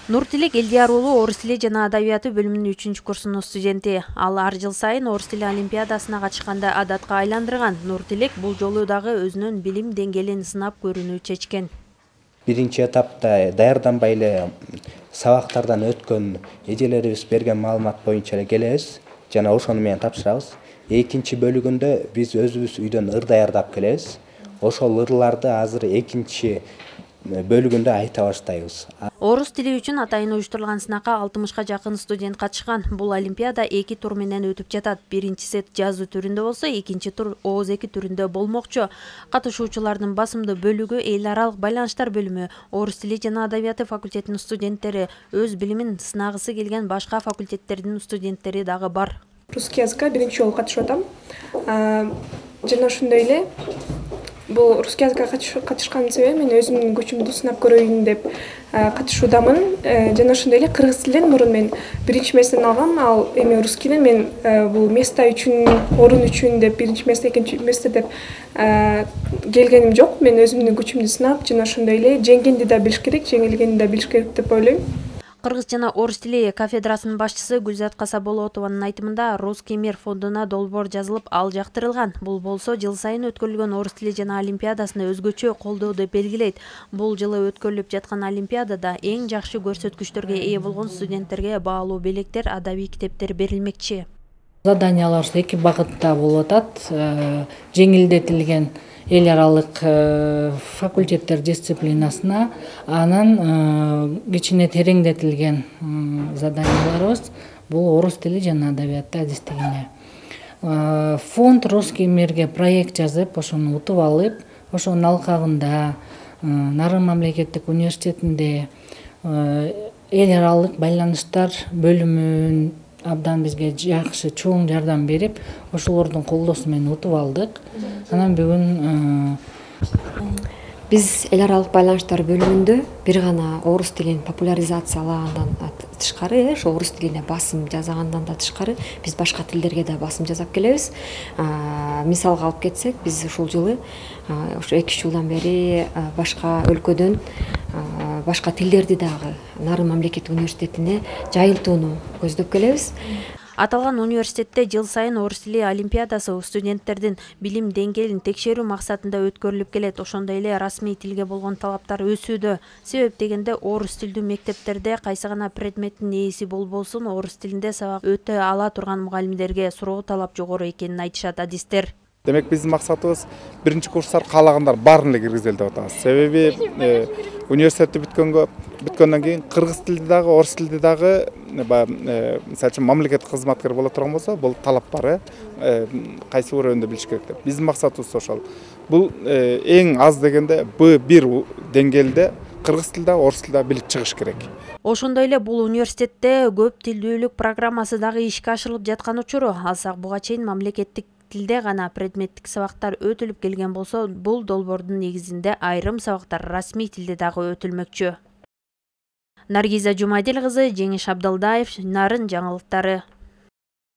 Нуртилек Элдияр уулу орус тили жана адабияты бөлүмүнүн 3-курсунун студенти. Ал ар жыл сайын орус тили олимпиадасына катышканды адатка айландырган. Нуртилек бул жолу дагы өзүнүн билим деңгээлин сынап көрүүнү чечкен. Биринчи этапта даярданбай эле сабактардан өткөн эжелерибиз берген маалымат боюнча эле келебиз жана ошону менен тапшырабыз. Экинчи бөлүгүндө биз өзүбүз үйдөн ыр даярдап келебиз. Ошол ырларды азыр экинчи бөлүгүндө айта баштайбыз. Орус тили үчүн атайын уюштурулган сынакка 60-ка жакын студент катышкан. Бул олимпиада 2 тур менен өтүп жатат. Биринчи сет жазуу түрүндө болсо, экинчи тур ооз-2 түрүндө болмокчу. Катышуучулардын басымдуу бөлүгү эл аралык байланыштар бөлүмү, орус тили жана адабияты факультетинин студенттери, өз билимин сынагысы келген башка факультеттердин студенттери дагы бар. Русский языкка биринчи жолу катышып атам. Жана ошондой эле бул русский языкка катышкан себебим мен өзүмдүн күчүмдү сынап көрөйүн деп катышуудамын. Жана ошондой эле кыргыз тилинен мурун мен биринчи местени алгам. Ал эми русскийден мен бул место үчүн, орун үчүн деп биринчи место, экинчи место деп келгеним жок. Мен өзүмдүн күчүмдү сынап, жана ошондой эле жеңгенди да билиш керек, жеңилгенди да билиш керек деп ойлойм. Кыргыз жана орус тили кафедрасынын башчысы Гүлзат Касаболотованын айтымында Русский мир фондуна долбоор жазылып, ал жактырылган. Бул болсо жыл сайын өткөрүлгөн орус тили жана олимпиадасына өзгөчө колдоо деп белгилейт. Бул жылы өткөрүлүп жаткан олимпиадада эң жакшы көрсөткүчтөргө ээ болгон студенттерге баалуу белектер, адабий китептер берилмекчи. Заданиялар эки багытта болуп атат. Жеңилдетилген эл аралык факультеттер дисциплинасына, анан кичине тереңдетилген заданияларыбыз бул орус тили жана адабияты адистигине. Фонд Русский мирге проект жазып, ошону утуп алып, ошонун алкагында Нарын мамлекеттик университетинде эл аралык байланыштар бөлүмүн абдан бизге жакшы чоң жардам берип, ошолордун колдоосу менен утуп алдык. Анан бүгүн биз эл аралык байланыштар бөлүмүндө бир гана орус тилин популяризациялагандан тышкары, ошо орус тилине басым жасагандан да тышкары, биз башка тилдерге да басым жасап келебиз. Мисалга алып кетсек, биз ушул жылы ошо 2 жылдан бери башка өлкөдөн башка тилдерди дагы Нарын мамлекеттик университетине жайылтууну көздөп келебиз. Аталган университетте жыл сайын орус тили олимпиадасы студенттердин билим деңгээлин текшерүү максатында өткөрүлүп келет. Ошондой эле расмий тилге болгон талаптар өсүүдө. Себеп дегенде орус тилдүү мектептерде кайсы гана предметтин ээси болбосун, орус тилинде сабак өтө ала турган мугалимдерге суроо талап жогору экенин айтышат адистер. Демек биздин максатыбыз биринчи курстар каалагандар баарын эле киргизели деп атабыз. Себеби университетти бүткөндөн кийин кыргыз тилди дагы, орус тилди дагы мисалы үчүн мамлекеттик кызматкер боло турган болсо, бул талап бар, кайсы бир өрөөндө билиш керек деп. Биздин максатыбыз ошол. Бул эң аз дегенде B1 деңгээлде кыргыз тилде, орус тилде билип чыгыш керек. Ошондой эле бул университетте көп тилдүүлүк программасы дагы ишке ашырылып жаткан учуру. Алсак буга чейин мамлекеттик тилде гана предметтик сабактар өтүлүп келген болсо, бул долбоордун негизинде айрым сабактар расмий тилде дагы өтүлмөкчү. Наргиза Жумадил кызы, Жеңиш Абдалдаев, Нарын жаңылыктары.